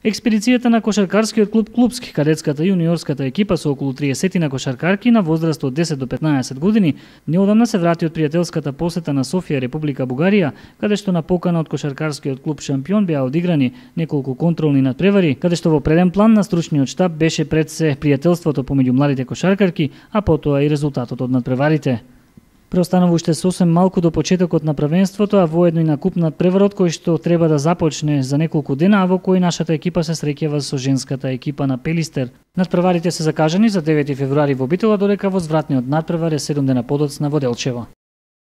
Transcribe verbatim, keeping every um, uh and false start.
Експедицијата на кошаркарскиот клуб Клубски, кадетската и јуниорската екипа со околу триесет на кошаркарки на возраст од десет до петнаесет години неодамна се врати од пријателската посета на Софија, Република Бугарија, каде што на покана од кошаркарскиот клуб Шампион беа одиграни неколку контролни надпревари, каде што во преден план на стручниот штаб беше пред се пријателството помеѓу младите кошаркарки, а потоа и резултатот од надпреварите. Преостанува уште сосем малку до почетокот на првенството, а воедно и на куп надпреварот кој што треба да започне за неколку дена, а во кој нашата екипа се среќава со женската екипа на Пелистер. Надпреварите се закажани за девети февруари во Битола, додека возвратниот надпревар е седум дена подоцна во Делчево.